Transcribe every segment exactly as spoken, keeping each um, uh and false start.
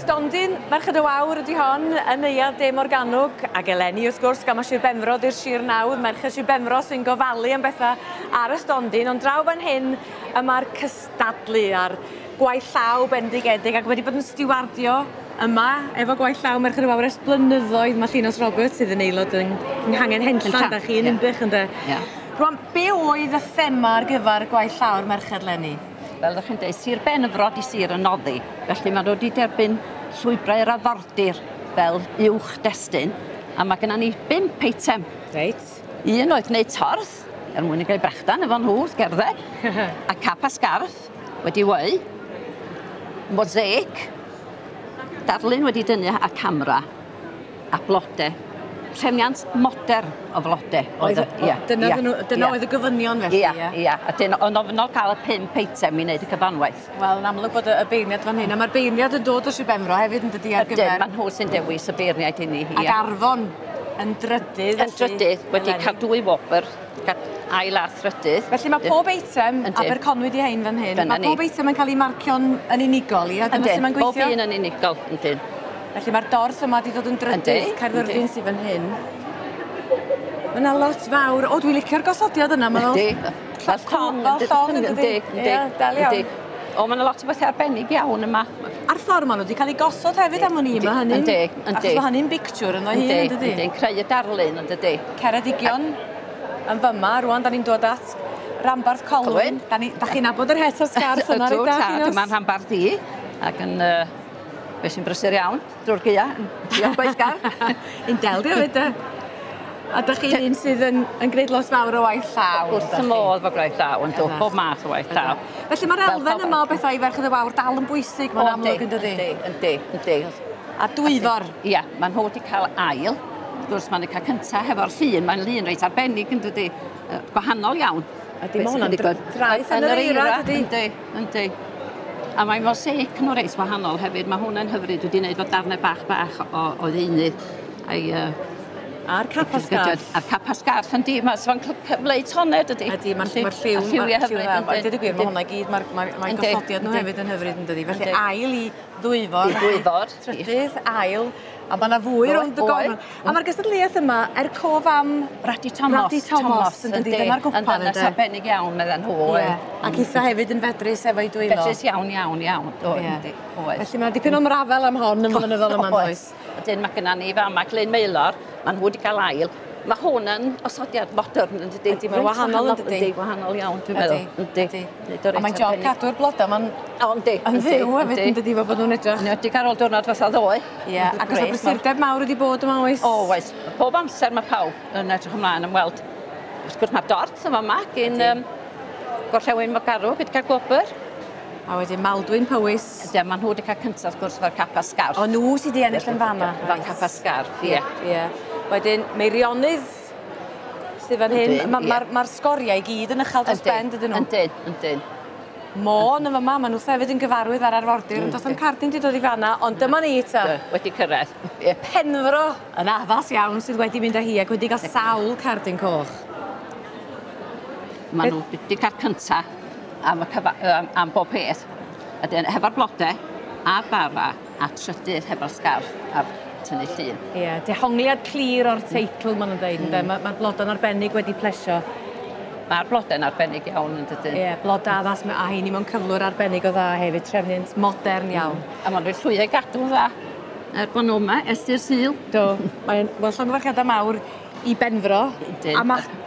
Stondin Merched y Wawr ydy hon yn Neuadd De Morgannwg, ac eleni wrth gwrs gan ma' Sir Benfro 'di'r sir nawdd, Merched Sir Benfro sy'n gofalu am bethau ar y stondin, ond draw fan hyn y mae'r cystadlu a'r gwaith llaw bendigedig ac wedi bod yn stiwardio yma efo gwaith llaw Merched y Wawr ers blynyddoedd. Mae Llinos Roberts sydd yn aelod yng Nghangen Henllan, da chi yn Ninbych ynde? Ia. Rwan, be oedd y thema ar gyfer gwaith llaw'r Merched leni? Fel ydych chi'n dweud, Sir Benfro 'di sir y noddi, felly maen nhw wedi derbyn llwybrau'r arfordir fel uwch destun, a mae gennym ni bump eitem. Reit. Un oedd gwneud torth, er mwyn i gael brechdan efo nhw wrth gerdded, a cap a sgarff wedi weu, mosaic, darlun wedi dynnu a camera, a blode. Trefniant modern o flode. Oedd, ia, dyna, ia, dyna ia. Oedd y gofynion felly, ia? Ia, a dyna, o'n ofynol cael y pump eitem i wneud y cyfanwaith. Wel, yn amlwg bod y, y beirniad fan hyn, a mae'r beirniad yn dod o Sir Benfro hefyd yn dydi ar gyfer... Ydyn, maen nhw sy'n dewis y beirniaid i ni. Ac Arfon yn drydydd. Yn drydydd, wedi cael dwy wobr, ail a thrydydd. Felly mae pob eitem, Aberconwy di hein fan hyn, mae pob eitem yn cael ei marcio'n yn unigol, ia? Dyna sut mae'n gweithio? Bob un yn unigol, yndyn. Felly mae'r dorth yma wedi dod yn drydydd, Caerfyrddin sydd fan hyn. Mae yna lot fawr. O, dwi'n licio'r gosodiad yna. Yndi. Fel llong, fel llong yn dydi? Yndi, yndi. O, mae yna lot o bethau arbennig iawn yma. A'r ffordd maen nhw wedi cael eu gosod hefyd am wn i, mae hynny'n... Yndi, yndi. Achos mae hynny'n bictiwr ynddo hun, yn dydi? Yndi, yn creu y darlun, yn dydi? Ceredigion yn fyma, rwan da ni'n dod at Ranbarth Colwyn. Da chi'n nabod yr het a'r sgarff yna, reit da? Ydw, dyma'n rhanbarth i, ac yn... Fe sy'n brysur iawn drwy'r gaea, diolch gweithgar. Un del di hefyd, de. A dych chi'n un sydd yn, yn gwneud lot fawr o waith llaw. Wrth y modd fo gwaith llaw, yn dod, bob math o waith llaw. Felly mae'r elfen yma o bethau i Ferched y Wawr dal yn bwysig, mae'n amlwg yn dydi? Yndi, yndi, yndi. A Dwyfor? Ia, maen nhw wedi cael ail. Wrth gwrs, maen nhw wedi cael cyntaf hefo'r llun, mae'n lun reit arbennig yn dydi. Gwahanol iawn. Ydy, mae hwnna'n draeth yn yr eira, dydi? Yndi, yndi. A mae mosaic nhw reit wahanol hefyd. Mae hwnna'n hyfryd wedi wneud fo darnau bach bach o, o ddeunydd. A'i, uh, A'r cap a sgarff. A'r cap a sgarff, yndi. Mae'n cyfleu toned, ydy. Ydy, mae'r lliw, lliw mae'r lliw hyfryd. A dweud y gwir, mae hwnna i gyd, mae'r mae, mae gosodiad nhw hefyd yn hyfryd, yn dydi. Felly ail i Ddwyfor. I Ddwyfor. Trydydd, ail. A mae yna fwy rownd y gornel. A mae'r gystadleuaeth yma er cof am Radi Thomas. Radi Thomas, yn dydi. Dyna'r gwpan, ynddo. Yn ddynes arbennig iawn, medden nhw. Ac eitha hefyd yn fedrus efo'i dwylo. Fedrus iawn, iawn, iawn. Oedd. Felly mae dipyn o ymrafel am hon yn flynyddol yma, does? Wedyn mae gynna ni fama Glyn Maelor, maen nhw wedi cael ail. Mae hwn yn osodiad modern, yn dydi? Ydy, mae'n wahanol, yn dydi? Ydy, wahanol iawn, dwi'n meddwl. Ydy, ydy. A mae'n job cadw'r blodau, mae'n yn fyw hefyd, yn dydi, fel bod nhw'n edrych. Yn enwedig ar ôl diwrnod fatha ddoe. Ie, ac oes 'na brysurdeb mawr wedi bod yma, oes? O, oes. Pob amser mae pawb yn edrych ymlaen am weld. Wrth gwrs mae'r dorth yma yma, gyn Gorllewin Morgannwg, wedi cael gwobr. A wedyn Maldwyn Powys. Ydy, maen nhw wedi cael cyntaf, wrth gwrs, efo'r cap a sgarff. O, nhw sydd wedi ennill yn fan'na. Efo'r cap a sgarff, ie. Ie. Wedyn, Meirionnydd sydd fan hyn. Mae'r ma, ma sgoriau i gyd yn uchel dros ben, dydyn nhw? Yndyn, yndyn. Môn yn fama, maen nhw hefyd yn gyfarwydd ar arfordir, ond does na'm cardyn wedi dod i fan'na, ond dyma ni ta. Wedi cyrraedd. Penfro yn addas iawn sydd wedi mynd â hi ac wedi cael sawl cardyn coch. Maen nhw wedi cael cyntaf am, y cyfa, am, am bob peth. A dyn, hefo'r blodau, a'r bara, a trydydd hefo'r sgarff a'r tynnu llun. Ie, yeah, dehongliad clir o'r teitl, maen nhw'n dweud, mm. Mae'r ma blodau'n arbennig wedi plesio. Mae'r blodau'n arbennig iawn, yn dydyn. Ie, yeah, blodau addas, a heini mewn cyflwr arbennig o dda hefyd, trefniant modern iawn. Mm. A maen nhw'n llwyddo i gadw dda. Er bod nhw yma, ers i'r Sul. Do, mae'n well, llongyfarchiadau mawr i Benfro. Yndyn. A mae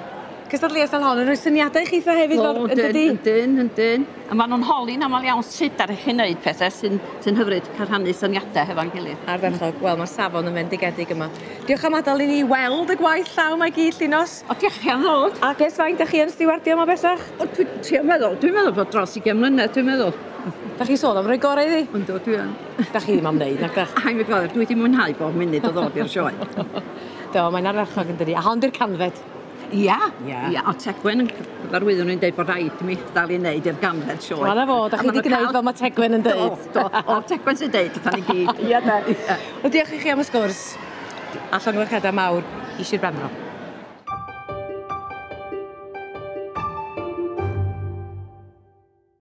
cystadleuaeth fel hon yn rhoi syniadau i chitha hefyd, O, yn dydi? Yndyn, yndyn. A maen nhw'n holi'n aml iawn sut ar chi wneud pethau sy'n sy hyfryd cael rhannu syniadau hefo'n gilydd. Ardderchog. Wel, mae'r safon yn fendigedig yma. Diolch am adael i ni weld y gwaith llaw mae gyd, Llinos. O, diolch chi am ddod. Ac ers faint ydych chi yn stiwardio yma bellach? O, dwi'n trio meddwl. Dwi'n meddwl bod dros ugain mlynedd, dwi'n meddwl. Da chi sôn am roi gorau iddi? Yndw, dwi yn. Da chi ddim am wneud, nac dach? A mi gweld, dwi wedi mwynhau bob munud o ddod i'r sioe. Do, mae'n ardderchog yn dydi. A hon di'r canfed. Ia, ia, o Tegwen yn cyfarwyddo nhw'n dweud bod rhaid i mi dal i wneud i'r ganfed sioe. Wel, na fo, da chi wedi gwneud fel mae Tegwen yn dweud. Do, do, o Tegwen sy'n dweud, wrthan ni gyd. Ia, de. Wel, diolch i chi am y sgwrs. A llongyfarchiadau mawr i Sir Benfro.